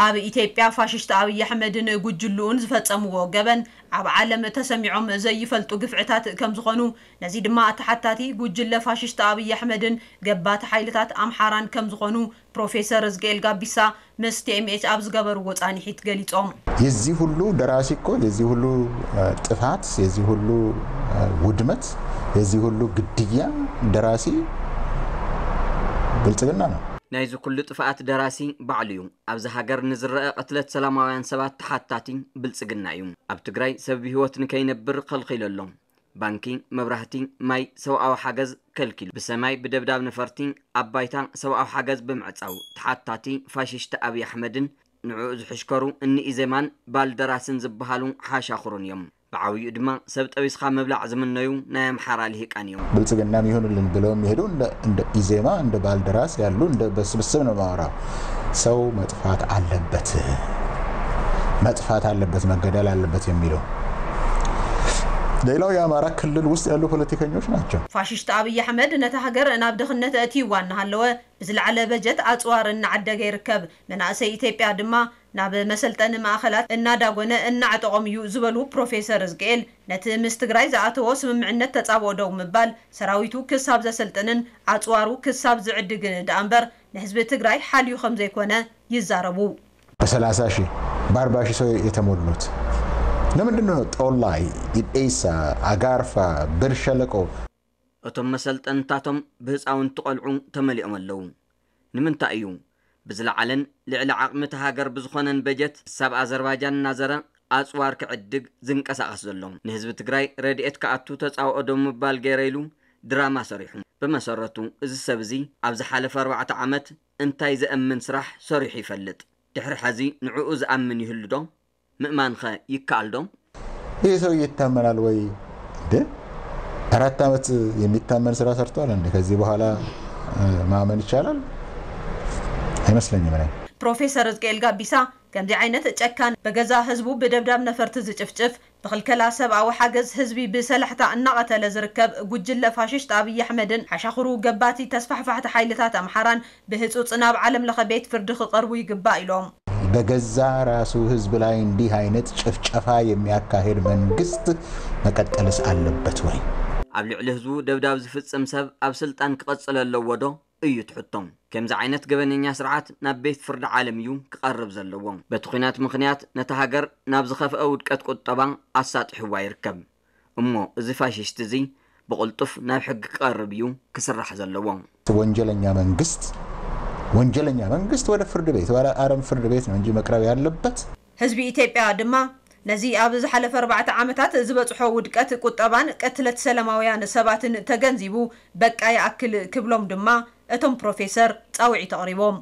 ኣብ ኢትዮጵያ ፋሽስት ኣብይ ኣሕመድን ጉጅልኡን ዝፈጸምዎ ገበን ኣብ ዓለም ተሰሚዖም ዘይፈልጡ ግፍዕታት ከም ዝኾኑ፣ ነዚ ድማ ተሓታቲ ጉጅለ ፋሽስት ኣብይ ኣሕመድን ገባቲ ሓይልታት ኣምሓራን ከም ዝኾኑ ፕሮፌሰር እዝቅኤል ጋቢሳ ምስ ቲ ኤም ኤች ኣብ ዝገበርዎ ጻንሒት ገሊጾም። የዚህ ሁሉ ደራሲ እኮ፣ የዚህ ሁሉ ጥፋት፣ የዚህ ሁሉ ውድመት፣ የዚህ ሁሉ ግድያ ደራሲ ብልጽግና ነው። ናይዚ ኩሉ ጥፍኣት ደራሲ ባዕሉ እዩ። ኣብዚ ሃገር ንዝረአ ቅትለት ሰላማውያን ሰባት ተሓታቲ ብልጽግና እዩ። ኣብ ትግራይ ሰብ ብህይወት ንከይነብር ከልኺሉ ኣሎ። ባንኪ፣ መብራህቲ፣ ማይ፣ ሰብኣዊ ሓገዝ ከልኪሉ። ብሰማይ ብደብዳብ ነፈርቲ፣ ኣብ ባይታ ሰብኣዊ ሓገዝ ብምዕጻው ተሓታቲ ፋሽስት ኣብይ ኣሕመድን ንዕኡ ዝሕሽከሩ እኒ ኢዜማን ባልደራስን ዝበሃሉ ሓሻኽሩን እዮም። ብዓብዩ ድማ ሰብ ጠቢስኻ ምብላዕ ዝምነዩ ናይ ኣምሓራ ልሂቃን እዮም። ብልጽግናም ይሁንልን ብለው የሚሄዱ እንደ ኢዜማ፣ እንደ ባልደራስ ያሉ እንደ በስብስብ ነው ማወራው። ሰው መጥፋት አለበት፣ መጥፋት አለበት፣ መገደል አለበት የሚለው። ሌላው የአማራ ክልል ውስጥ ያሉ ፖለቲከኞች ናቸው። ፋሽስት ኣብይ ኣሕመድ ነታ ሃገር ናብ ድኽነት ኣእትይዋ እናሃለወ ብዝለዓለ በጀት ኣፅዋር እናዓደገ ይርከብ። መናእሰይ ኢትዮጵያ ድማ ናብ መሰልጠኒ ማእኸላት እናዳጎነ እናዕጠቖም እዩ ዝበሉ ፕሮፌሰር እዝቅኤል፣ ነቲ ምስ ትግራይ ዝኣተዎ ስምምዕነት ተፃብኦ ደው ምባል ሰራዊቱ ክሳብ ዘሰልጥንን ኣፅዋሩ ክሳብ ዝዕድግን ደኣ እምበር ንህዝቢ ትግራይ ሓልዩ ከም ዘይኮነ ይዛረቡ። በሰላሳ ሺህ በአርባ ሺህ ሰው የተሞሉት ለምንድን ነው? ጦላይ፣ ኢዴሳ፣ አጋርፋ፣ ብር ሸለቆ እቶም መሰልጠንታቶም ብህፃውንቲ ቆልዑ ተመሊኦም ኣለዉ። ንምንታይ እዩ ብዝለዓለን ልዕሊ ዓቕሚ እታ ሃገር ብዝኾነን በጀት ክሳብ ኣዘርባጃን እናዘረ ኣፅዋር ክዕድግ ዝንቀሳቐስ ዘሎ? ንህዝቢ ትግራይ ረድኤት ክኣቱ ተፃብኦ ደው ምባል ገይረ ኢሉ ድራማ ሰሪሑ። ብመሰረቱ እዚ ሰብ እዚ ኣብ ዝሓለፈ ኣርባዕተ ዓመት እንታይ ዘእምን ስራሕ ሰሪሑ ይፈልጥ? ድሕሪ ሐዚ ንዕኡ ዝኣምን ይህሉ ዶ? ምእማንኸ ይከኣል ዶ? ይህ ሰው ይታመናል ወይ? እንደ አራት ዓመት የሚታመን ስራ ሰርቷል እንዴ? ከዚህ በኋላ ማመን ይቻላል? አይመስለኝም። እኔ ፕሮፌሰር እዝቅኤል ጋቢሳ ከምዚ ዓይነት ጨካን፣ በገዛ ህዝቡ ብደብዳብ ነፈርቲ ዝጭፍጭፍ፣ ብክልከላ ሰብኣዊ ሓገዝ ህዝቢ ብሰላሕታ እናቐተለ ዝርከብ ጉጅለ ፋሽስት ኣብይ ኣሕመድን ሓሻኽሩ ገባቲ ተስፋሕፋሕቲ ሓይልታት ኣምሓራን ብህፁፅ ናብ ዓለም ለኸ ቤት ፍርዲ ክቐርቡ ይግባእ ኢሎም። በገዛ ራሱ ህዝብ ላይ እንዲህ አይነት ጭፍጨፋ የሚያካሄድ መንግስት መቀጠልስ አለበት ወይ? ኣብ ልዕሊ ህዝቡ ደብዳብ ዝፍጽም ሰብ ኣብ ስልጣን ክቐጽል ኣለዎ ዶ እዩ ትሕቶም። ከምዚ ዓይነት ገበነኛ ስርዓት ናብ ቤት ፍርዲ ዓለም እዩ ክቐርብ ዘለዎ። በቲ ኲናት ምኽንያት ነታ ሃገር ናብ ዝኸፍአ ውድቀት ቁጠባ ኣሳጢሕዋ ይርከብ። እሞ እዚ ፋሽስት እዚ ብቕልጡፍ ናብ ሕጊ ክቐርብ እዩ ክስራሕ ዘለዎ። ወንጀለኛ መንግስት ወንጀለኛ መንግስት ወደ ፍርድ ቤት፣ ወደ ዓለም ፍርድ ቤት ነው እንጂ መቅረብ ያለበት። ህዝቢ ኢትዮጵያ ድማ ነዚ ኣብ ዝሓለፈ ኣርባዕተ ዓመታት ዝበፅሖ ውድቀት ቁጠባን ቅትለት ሰላማውያን ሰባትን ተገንዚቡ በቃ ይኣክል ክብሎም ድማ እቶም ፕሮፌሰር ፃውዒት ኣቕሪቦም።